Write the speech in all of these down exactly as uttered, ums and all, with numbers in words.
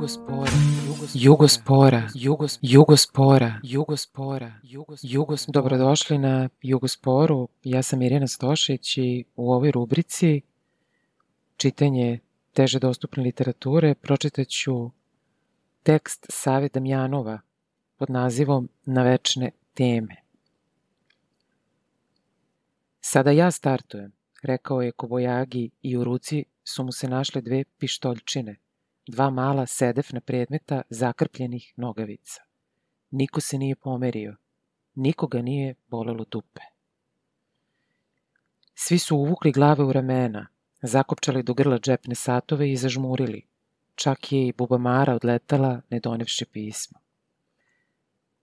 Jugospora, Jugospora, Jugos, Jugospora, Jugospora, Jugos. Dobrodošli na Jugosporu. Ja sam Irina Stošić i u ovoj rubrici čitanje teže dostupne literature pročitat ću tekst Save Damjanova pod nazivom Na večne teme. Sada ja startujem, rekao je Kobojagi i u ruci su mu se našle dve pištoljčine, dva mala sedefna predmeta zakrpljenih nogavica. Niko se nije pomerio, nikoga nije bolelo dupe. Svi su uvukli glave u ramena, zakopčali do grla džepne satove i zažmurili. Čak je i bubamara odletala ne donevši pismo.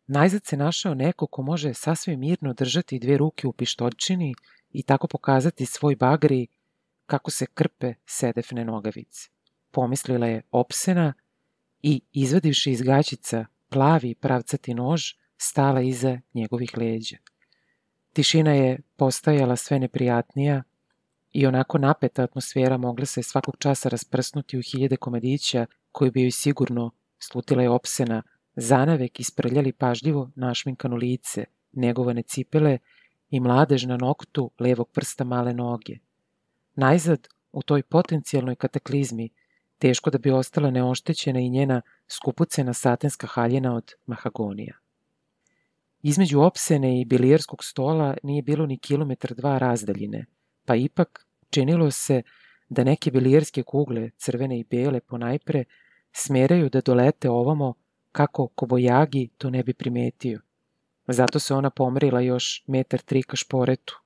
Najzad se našao neko ko može sasvim mirno držati dve ruke u pištoljčini i tako pokazati svoj bagri kako se krpe sedefne nogavice. Pomislila je Opsena i, izvadivši iz gaćica plavi pravcati nož, stala iza njegovih leđa. Tišina je postajala sve neprijatnija i onako napeta atmosfera mogla se svakog časa rasprsnuti u hiljade komadića koji bi joj sigurno, slutila je Opsena, zanavek isprljali pažljivo našminkano lice, negovane cipele i mladež na noktu levog prsta male noge. Najzad, u toj potencijalnoj kataklizmi, teško da bi ostala neoštećena i njena skupucena satenska haljina od mahagonija. Između Opsene i bilijerskog stola nije bilo ni kilometar dva razdaljine, pa ipak činilo se da neke bilijerske kugle, crvene i bele ponajpre, smeraju da dolete ovamo kako Kobojagi to ne bi primetio. Zato se ona pomerila još metar tri ka šporetu,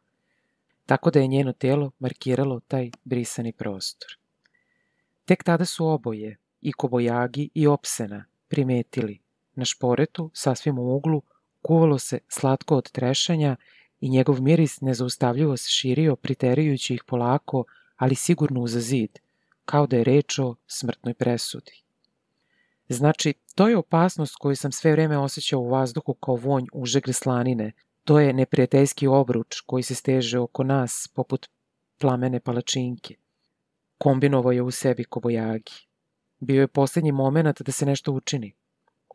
tako da je njeno telo markiralo taj brisani prostor. Tek tada su oboje, i Kobojagi i Opsena, primetili. Na šporetu, sasvim u uglu, kuvalo se slatko od trešanja i njegov miris nezaustavljivo se širio, priterujući ih polako, ali sigurno uza zid, kao da je reč o smrtnoj presudi. Znači, to je opasnost koju sam sve vreme osjećao u vazduhu kao vonj užegle slanine. To je neprijateljski obruč koji se steže oko nas, poput plamene palačinke. Kombinovao je u sebi Kobojagi. Bio je posljednji moment da se nešto učini.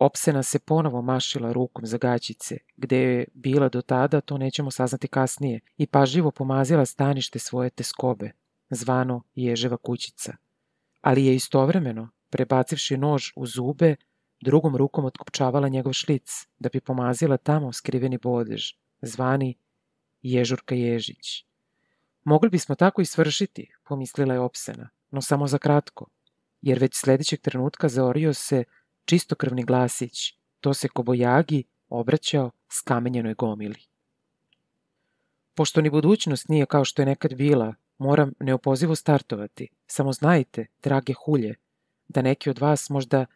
Opsena se ponovo mašila rukom za gaćice, gde je bila do tada, to nećemo saznati kasnije, i pažljivo pomazila stanište svoje teskobe, zvano Ježeva kućica. Ali je istovremeno, prebacivši nož u zube, drugom rukom otkopčavala njegov šlic, da bi pomazila tamo skriveni bodež, zvani Ježurka Ježić. Mogli bismo tako i svršiti, pomislila je Opsena, no samo za kratko, jer već sljedećeg trenutka zaorio se čistokrvni glasić, to se Kobojagi obraćao skamenjenoj gomili. Pošto ni budućnost nije kao što je nekad bila, moram neopozivo startovati. Samo znajte, drage hulje, da neki od vas možda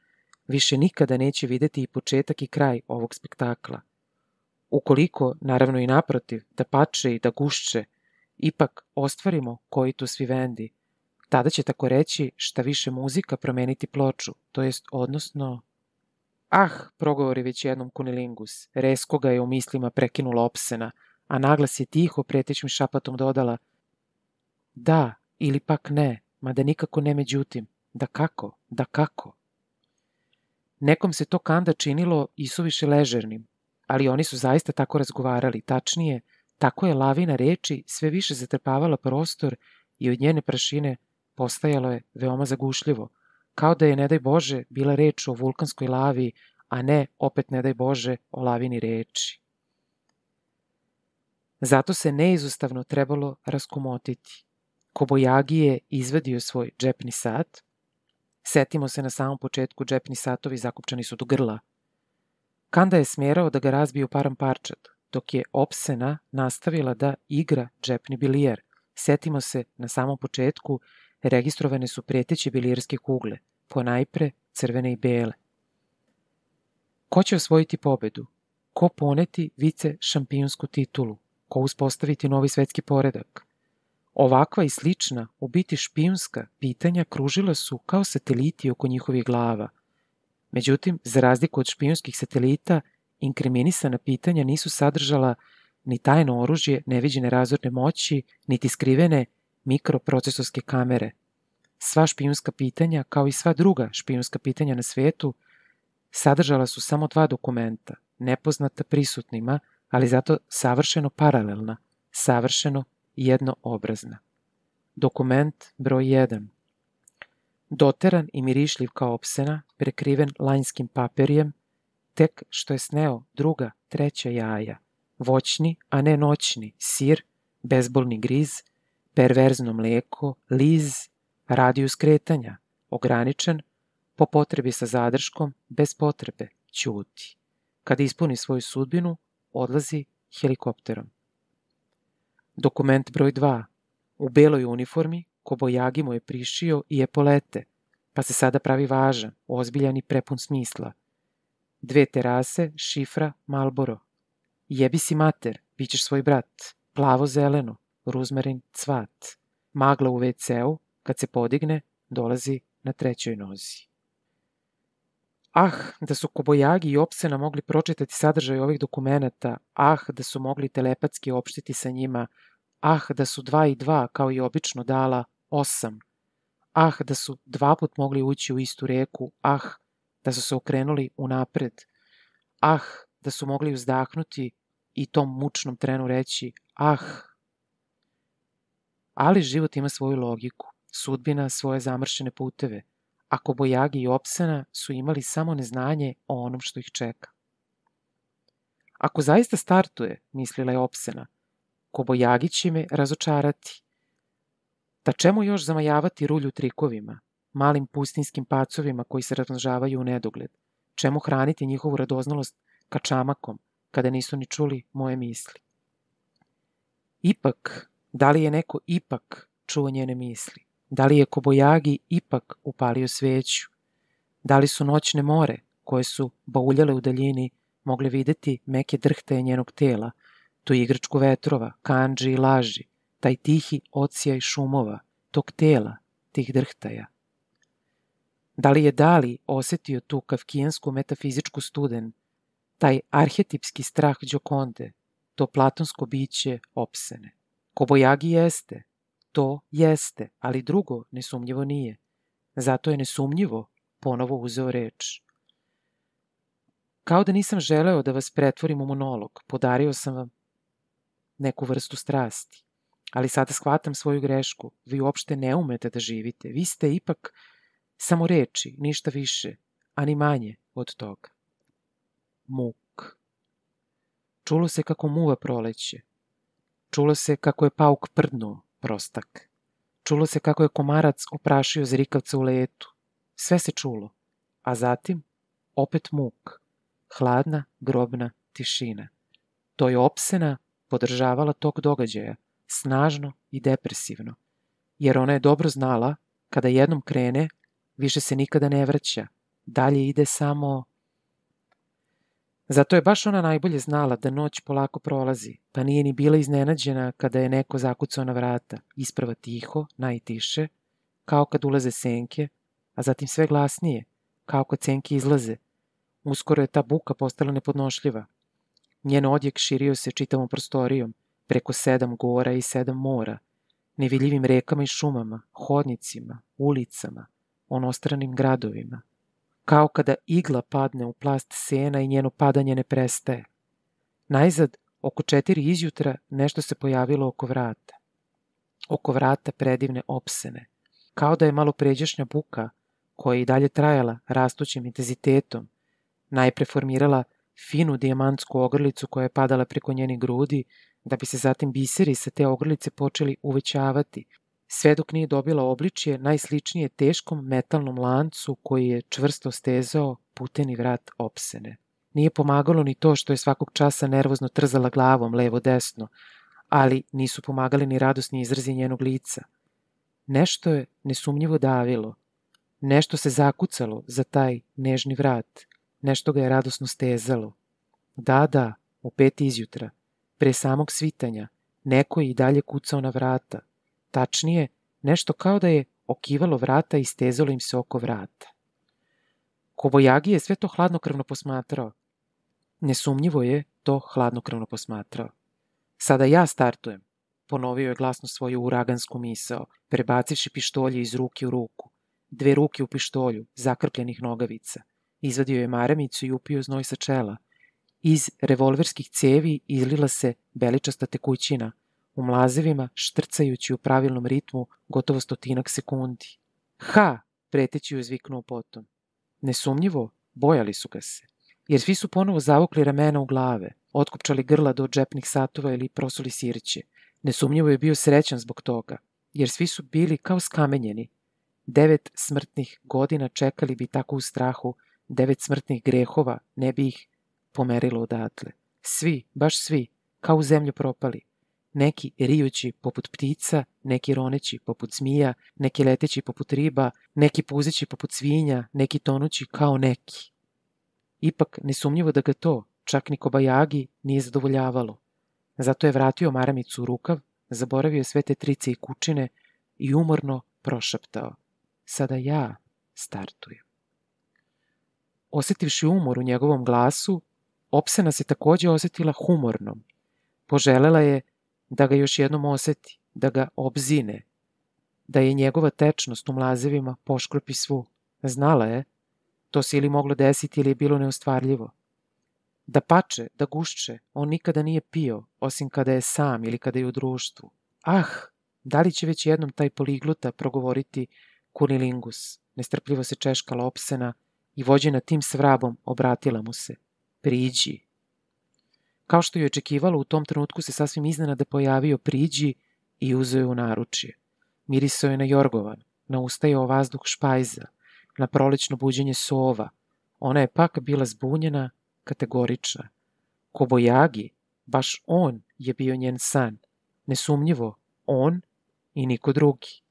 više nikada neće videti i početak i kraj ovog spektakla. Ukoliko, naravno i naprotiv, da pače i da gušće, ipak ostvarimo coitus vivendi, tada će tako reći šta više muzika promeniti ploču, to jest odnosno... Ah, progovori već jednom kunilingus, resko ga je u mislima prekinula Opsena, a naglas je tiho pretećim šapatom dodala: da, ili pak ne, mada nikako ne međutim, da kako, da kako. Nekom se to kanda činilo isuviše ležernim, ali oni su zaista tako razgovarali, tačnije, tako je lavina reči sve više zatrpavala prostor i od njene prašine postajalo je veoma zagušljivo, kao da je, ne daj Bože, bila reč o vulkanskoj lavi, a ne, opet ne daj Bože, o lavini reči. Zato se neizostavno trebalo raskomotiti. Kobojagi je izvadio svoj džepni sat. Setimo se na samom početku, džepni satovi zakopčani su do grla. Kanda je smjerao da ga razbije u param parčad, dok je Opsena nastavila da igra džepni bilijer. Setimo se, na samom početku registrovane su preteće bilijerske kugle, ponajpre crvene i bele. Ko će osvojiti pobedu? Ko poneti vice šampionsku titulu? Ko uspostaviti novi svetski poredak? Ovakva i slična, u biti špijunska, pitanja kružila su kao sateliti oko njihovih glava. Međutim, za razliku od špijunskih satelita, inkriminisana pitanja nisu sadržala ni tajno oružje neviđene razorne moći, niti skrivene mikroprocesorske kamere. Sva špijunska pitanja, kao i sva druga špijunska pitanja na svetu, sadržala su samo dva dokumenta, nepoznata prisutnima, ali zato savršeno paralelna, savršeno jednoobrazna. Dokument broj jedan. Doteran i mirišljiv kao opsena, prekriven lanjskim papirjem, tek što je sneo druga, treća jaja, voćni, a ne noćni, sir, bezbolni griz, perverzno mleko, liz, radijus kretanja, ograničen, po potrebi sa zadrškom, bez potrebe, ćuti. Kad ispuni svoju sudbinu, odlazi helikopterom. Dokument broj dva. U beloj uniformi, Kobojagi mu je prišio i epolete, pa se sada pravi važan, ozbiljan i prepun smisla. Dve terase, šifra, Malboro. Jebi si mater, bit ćeš svoj brat, plavo-zeleno, ruzmarin, cvat. Magla u ve ce u, kad se podigne, dolazi na trećoj nozi. Ah, da su Kobojagi i Opsena mogli pročitati sadržaj ovih dokumenata, ah, da su mogli telepatski opštiti sa njima, ah, da su dva i dva, kao i obično, dala osam, ah, da su dva put mogli ući u istu reku, ah, da su se okrenuli unapred, ah, da su mogli uzdahnuti i tom mučnom trenu reći, ah. Ali život ima svoju logiku, sudbina svoje zamršene puteve, a Kobojagi i Opsena su imali samo neznanje o onom što ih čeka. Ako zaista startuje, mislila je Opsena, Kobojagi će me razočarati. Da čemu još zamajavati rulju trikovima, malim pustinskim pacovima koji se razmnožavaju u nedogled? Čemu hraniti njihovu radoznalost kačamakom, kada nisu ni čuli moje misli? Ipak, da li je neko ipak čuo njene misli? Da li je Kobojagi ipak upalio sveću? Da li su noćne more, koje su bauljale u daljini, mogle videti meke drhtaje njenog tela, tu igračku vetrova, kandži i laži, taj tihi ocijaj šumova, tog tela, tih drhtaja? Da li je Dali osetio tu kafkijansku metafizičku studen, taj arhetipski strah Đokonde, to platonsko biće Opsene? Kobojagi jeste, to jeste, ali drugo nesumnjivo nije. Zato je nesumnjivo ponovo uzeo reč. Kao da nisam želeo da vas pretvorim u monolog, podario sam vam neku vrstu strasti. Ali sada shvatam svoju grešku. Vi uopšte ne umete da živite. Vi ste ipak samo reči, ništa više, a ni manje od toga. Muk. Čulo se kako muva proleće. Čulo se kako je pauk prdnuo, prostak. Čulo se kako je komarac oprašio zrikavca u letu. Sve se čulo. A zatim opet muk. Hladna, grobna tišina. To je Opsena podržavala tok događaja, snažno i depresivno, jer ona je dobro znala, kada jednom krene, više se nikada ne vraća, dalje ide samo... Zato je baš ona najbolje znala da noć polako prolazi, pa nije ni bila iznenađena kada je neko zakucao na vrata, isprva tiho, najtiše, kao kad ulaze senke, a zatim sve glasnije, kao kad senke izlaze. Uskoro je ta buka postala nepodnošljiva. Njen odjek širio se čitavom prostorijom, preko sedam gora i sedam mora, nevidljivim rekama i šumama, hodnicima, ulicama, onostranim gradovima. Kao kada igla padne u plast sena i njeno padanje ne prestaje. Najzad, oko četiri izjutra, nešto se pojavilo oko vrata. Oko vrata predivne Opsene. Kao da je malo pređašnja buka, koja je i dalje trajala rastućim intenzitetom, najpre formirala finu dijamantsku ogrlicu koja je padala preko njenih grudi, da bi se zatim biseri sa te ogrlice počeli uvećavati, sve dok nije dobila obličje najsličnije teškom metalnom lancu koji je čvrsto stezao puteni vrat Opsene. Nije pomagalo ni to što je svakog časa nervozno trzala glavom levo-desno, ali nisu pomagali ni radosni izrazi njenog lica. Nešto je nesumnjivo davilo, nešto se zakucalo za taj nežni vrat, nešto ga je radosno stezalo. Da, da, u pet izjutra, pre samog svitanja, neko je i dalje kucao na vrata. Tačnije, nešto kao da je okivalo vrata i stezalo im se oko vrata. Kobojagi je sve to hladnokrvno posmatrao. Nesumnjivo je to hladnokrvno posmatrao. Sada ja startujem, ponovio je glasno svoju uragansku misao, prebacivši pištolje iz ruke u ruku. Dve ruke u pištolju, zakrpljenih nogavica. Izvadio je maramicu i upio znoj sa čela. Iz revolverskih cevi izlila se beličasta tekućina, u mlazevima štrcajući u pravilnom ritmu gotovo stotinak sekundi. Ha! Preteći je zviknuo potom. Nesumnjivo, bojali su ga se, jer svi su ponovo zavukli ramena u glave, otkopčali grla do džepnih satova ili prosuli sirće. Nesumnjivo je bio srećan zbog toga, jer svi su bili kao skamenjeni. Devet smrtnih godina čekali bi tako u strahu, devet smrtnih grehova ne bi ih pomerilo odatle. Svi, baš svi, kao u zemlju propali. Neki rijući poput ptica, neki roneći poput zmija, neki leteći poput riba, neki puzeći poput svinja, neki tonući kao neki. Ipak, nesumnjivo da ga to, čak ni Kobajagi, nije zadovoljavalo. Zato je vratio maramicu u rukav, zaboravio sve te trice i kučine i umorno prošaptao. Sada ja startujem. Osetivši umor u njegovom glasu, Opsena se takođe osetila humornom. Poželela je da ga još jednom oseti, da ga obzine, da je njegova tečnost u mlazevima poškropi svu. Znala je, to se ili moglo desiti ili je bilo neostvarljivo. Da pače, da gušće, on nikada nije pio, osim kada je sam ili kada je u društvu. Ah, da li će već jednom taj poligluta progovoriti kunilingus? Nestrpljivo se češkala Opsena i vođena tim svrabom obratila mu se. Priđi. Kao što je očekivalo, u tom trenutku se sasvim iznenada pojavio Priđi i uzeo je u naručje. Mirisao je na jorgovan, na ustajao vazduh špajza, na prolećno buđenje sova. Ona je pak bila zbunjena, kategorična. Kobajagi, baš on je bio njen san. Nesumnjivo, on i niko drugi.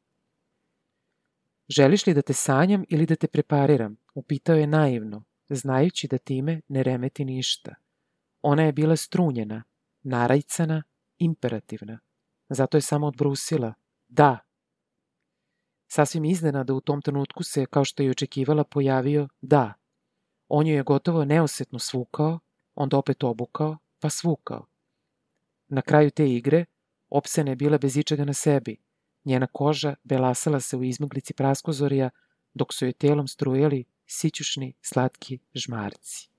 Želiš li da te sanjam ili da te prepariram? Upitao je naivno, znajući da time ne remeti ništa. Ona je bila strunjena, narajcana, imperativna. Zato je samo odbrusila. Da. Sasvim iznenada u tom trenutku se, kao što je očekivala, pojavio da. On ju je gotovo neosetno svukao, onda opet obukao, pa svukao. Na kraju te igre, Opsena je bila bez ičega na sebi. Njena koža belasala se u izmaglici praskozorja, dok su joj telom strujali sićušni, slatki žmarci.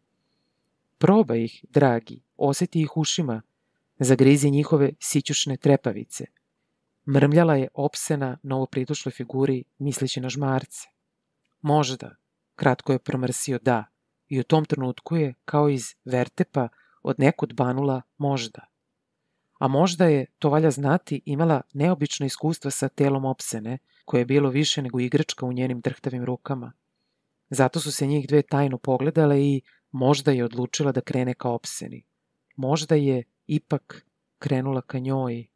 Probaj ih, dragi, oseti ih ušima, zagrizi njihove sićušne trepavice. Mrmljala je Opsena novopridošloj figuri, misleći na žmarce. Možda, kratko je promrsio da, i u tom trenutku je, kao iz vertepa, od nekud banula možda. A možda je, to valja znati, imala neobično iskustva sa telom Opsene, koje je bilo više nego igračka u njenim drhtavim rukama. Zato su se njih dve tajno pogledale i možda je odlučila da krene ka Opseni. Možda je ipak krenula ka njoj.